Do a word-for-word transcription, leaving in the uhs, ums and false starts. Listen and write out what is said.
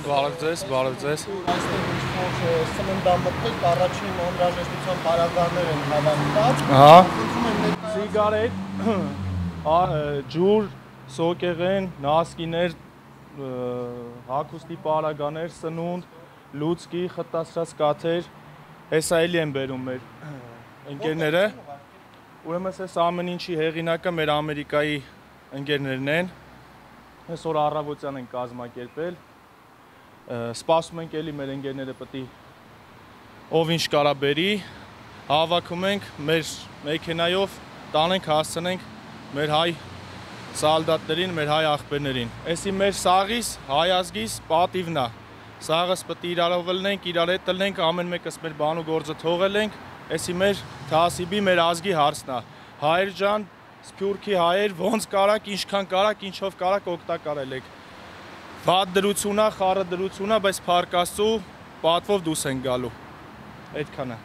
Բարև ձեզ, բարև ձեզ։ Այստեղ ինչ-որ սննդամթերք առաջին անհրաժեշտության պարագաներ են հավաքված։ Ահա։ Խնդրում եմ ներկայացնել Սիգարետ, ջուր, սոկեղեն, նասկիներ, հագուստի պարագաներ, սնունդ, լուցկի, խտացրած կաթեր, հեսա էլի են բերում մեր ընկերները։ Ուրեմն այս ամեն ինչի հեղինակը մեր Ամերիկայի ընկերներն են։ Այսօր առավոտյան են կազմակերպել։ Սպասում ենք էլի մեր ընկերները պետք է ով ինչ կարա բերի, հավաքում ենք մեր մեքենայով, տանենք հասցնենք մեր հայ սալդատներին, մեր հայ աղբերներին։ Էսի մեր սաղիս, հայ ազգիս պատիվն է։ Սաղս պետք է իրարով լնենք, իրար հետ լնենք, ամեն մեկս մեր բան ու գործը թողել ենք։ Էսի մեր թասիբի, մեր ազգի հարցն է։ Հայեր ջան, սփյուռքի հայեր, ոնց կարաք, ինչքան կարաք, ինչով կարաք օգտակարել եք։ Վատ դրություն է, խառը դրություն է, բայց փառք Աստծո, պատվով դուրս են գալու։ Այդքանը։